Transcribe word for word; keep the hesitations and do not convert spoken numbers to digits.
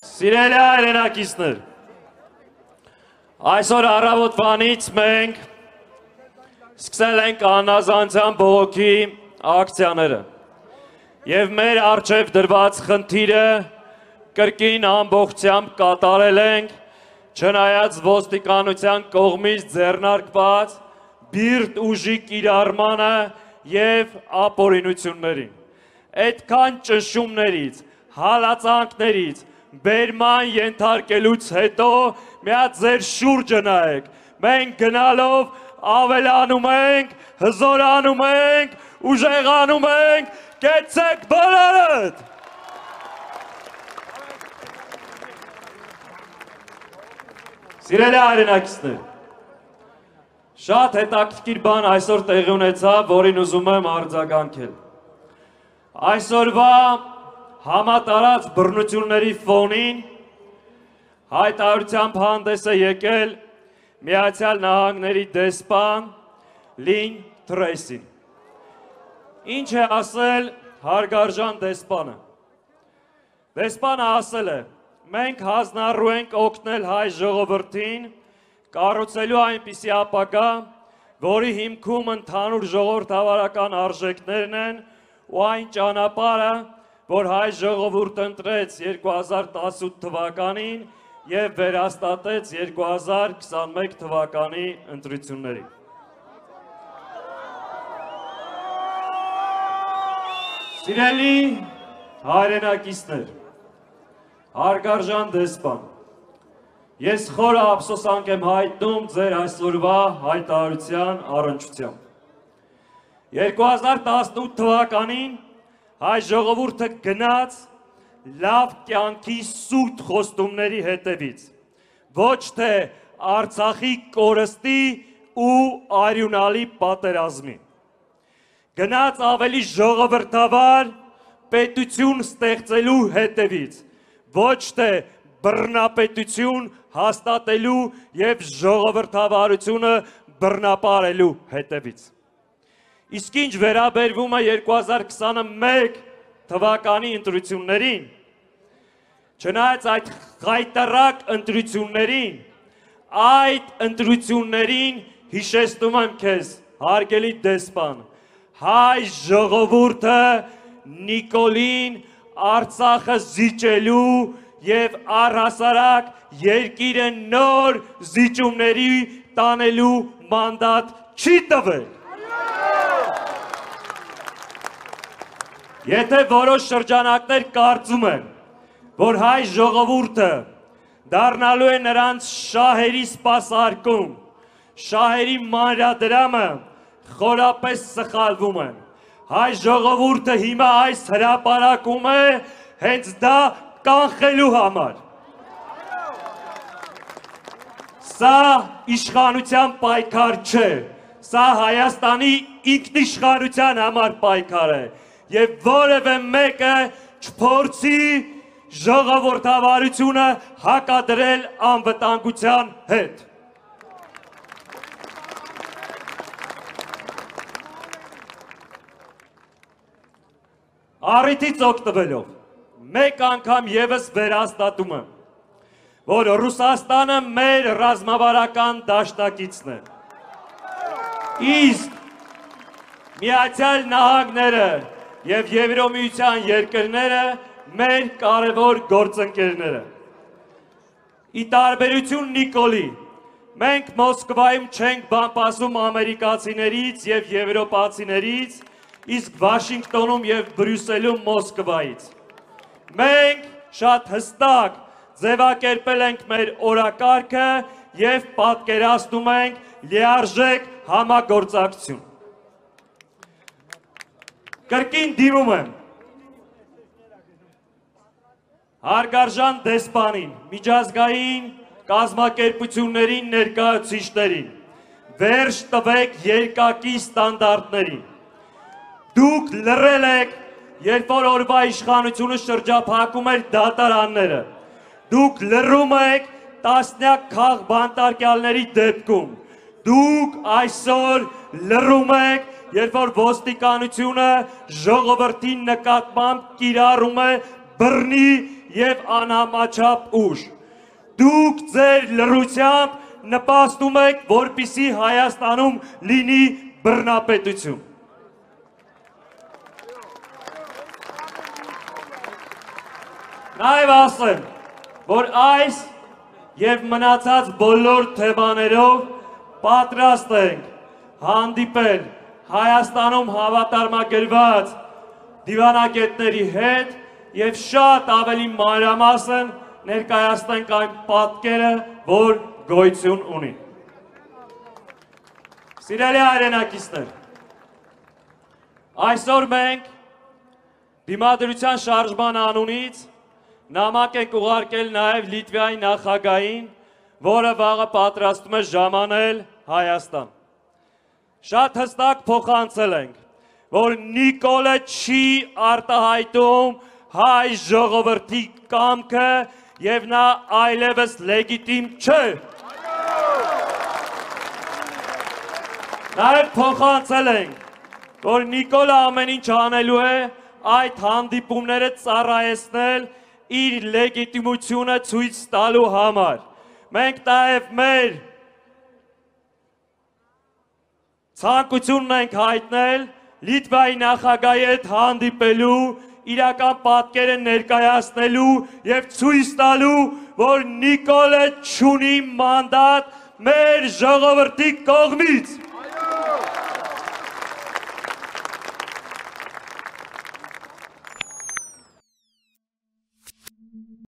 Սիրելի հայրենակիցներ, այսօր առավոտվանից մենք սկսել ենք անազանցյան բողոքի ակցիաները և մեր առջև դրված խնդիրը կրկին ամբողջությամբ կատարել ենք, չնայած ոստիկանության կողմից ձեռնարկված բիրտ ուժի կիրառմանը և ապօրինություններին։ Այդքան ճնշումներից, հալածանքներից, բերման ենթարկելուց հետո միած ձեր շուրջը նայեք, մենք գնալով ավելանում ենք, հզորանում ենք, ուժեղանում ենք, կեցեք բոլորդ։ Սիրելի հայրենակիցներ, շատ հետաքրքիր բան այսօր տեղի ունեցավ, որին ուզում եմ արձագանքել։ Այսօրվա համատարած բռնությունների ֆոնին հայտարարությամբ հանդես է եկել Միացյալ Նահանգների դեսպան Լին Թրեյսին։ Ինչ է ասել հարգարժան դեսպանը։ Դեսպանը ասել է. մենք հանձնառու ենք օգնել հայ ժողովրդին կառուցելու այնպիսի ապագա, որի հիմքում ընդհանուր ժողովրդավարական արժեքներն են ու այն ճանապարհը, որ հայ ժողովուրդը ընտրեց երկու հազար տասնութ թվականին և վերահաստատեց երկու հազար քսանմեկ թվականի ընտրություններին։ Սիրելի հայրենակիցներ, հարգարժան դեսպան, ես խորը ափսոսանք եմ հայտնում ձեր այսօրվա հայտարարության առնչությամբ։ երկու հազար տասնութ թվականին հայ ժողովուրդը գնաց լավ կյանքի սուրբ խոստումների հետևից, ոչ թե Արցախի կորստի ու արյունալի պատերազմի։ Գնաց ավելի ժողովրդավար պետություն ստեղծելու հետևից, ոչ թե բռնապետություն հաստատելու և ժողովրդավարությունը բռնապարելու հետևից։ Իսկ ինչ վերաբերվում է երկու հազար քսանմեկ թվականի ընտրություններին, չնայած այդ խայտառակ ընտրություններին, այդ ընտրություններին հիշեցնում եմ քեզ, հարգելի դեսպան, հայ ժողովուրդը Նիկոլին Արցախը զիջելու և առհասարակ երկիրը նոր զիջումների տանելու մանդատ չի տվել։ Եթե որոշ շրջանակներ կարծում են, որ հայ ժողովուրդը դառնալու է նրանց շահերի սպասարկում, շահերի մանրադրամը, խորապես սխալվում են։ Հայ ժողովուրդը հիմա այս հրապարակում է հենց դա կանխելու համար։ Սա իշխանության պայքար չէ, սա Հայաստանի ինքնիշխանության համար պայքար է և որևէ մեկը չփորձի ժողովրդավարությունը հակադրել անվտանգության հետ։ Առիթից օգտվելով, մեկ անգամ ևս վերահաստատում եմ, որ Ռուսաստանը մեր ռազմավարական դաշնակիցն է։ Իսկ Միացյալ Նահանգները և Եվրամիության երկրները մեր կարևոր գործընկերները։ Ի տարբերություն Նիկոլի, մենք Մոսկվայում չենք բամբասում ամերիկացիներից և եվրոպացիներից, իսկ Վաշինգտոնում և Բրյուսելում Մոսկվայից։ Մենք շատ հստակ ձևակերպել ենք մեր օրակարգը և պատկերացնում ենք լիարժեք համագործակցություն։ Կրկին դիմում եմ հարգարժան դեսպանին, միջազգային կազմակերպություններին ներկայացուցիչներին, վերջ տվեք երկակի ստանդարտներին։ Դուք լռել եք, երբ որ օրվա իշխանությունը շրջափակում էր դատարանները։ Դուք լռում եք տասնյակ քաղբանտարկյալների դեպքում։ Դուք այսօր լռում եք երբ որ ոստիկանությունը ժողովրդի նկատմամբ կիրառում է բռնի եւ անհամաչափ ուժ։ Դուք ձեր լռությամբ նպաստում եք, որպեսզի Հայաստանում լինի բռնապետություն։ Նաև ասեմ, որ այս եւ մնացած բոլոր թեմաներով պատրաստ ենք հանդիպել Հայաստանում հավատարմագրված դիվանագետների հետ եւ շատ ավելի մանրամասն ներկայացնենք այն պատկերը, որ գոյություն ունի։ Սիրելի հայրենակիցներ, այսօր մենք դիմադրության շարժման անունից նամակ ենք ուղարկել նաև Լիտվայի նախագահին, որը վաղը պատրաստում է ժամանել Հայաստան։ Շատ հստակ փոխանցել ենք, որ Նիկոլը չի արտահայտում հայ ժողովրդի կամքը եւ նա այլևս լեգիտիմ չէ։ Նաև փոխանցել ենք, որ Նիկոլը ամեն ինչ անելու է այդ հանդիպումները ծառայեցնել իր լեգիտիմությունը ցույց տալու համար։ Մենք նաև մեր ցանկությունն ենք հայտնել Լիտվայի նախագահի հետ հանդիպելու, իրական պատկերը ներկայացնելու եւ ցույց տալու, որ Նիկոլը չունի մանդատ մեր ժողովրդի կողմից։